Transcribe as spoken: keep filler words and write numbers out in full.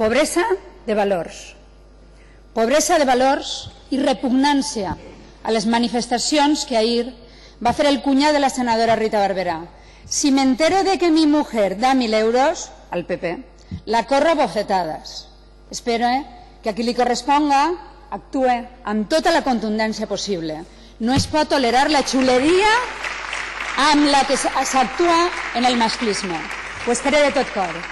pobresa de valors. Pobresa de valors i repugnància a les manifestacions que ahir va fer el cunyat de la senadora Rita Barberà. Si me entero de que mi mujer da mil euros al P P, la corro a bofetadas. Espero eh, que a qui li corresponga actue amb tota la contundència possible. No es pot tolerar la xuleria amb la que s'actua en el masclisme. Ho espero de tot cor.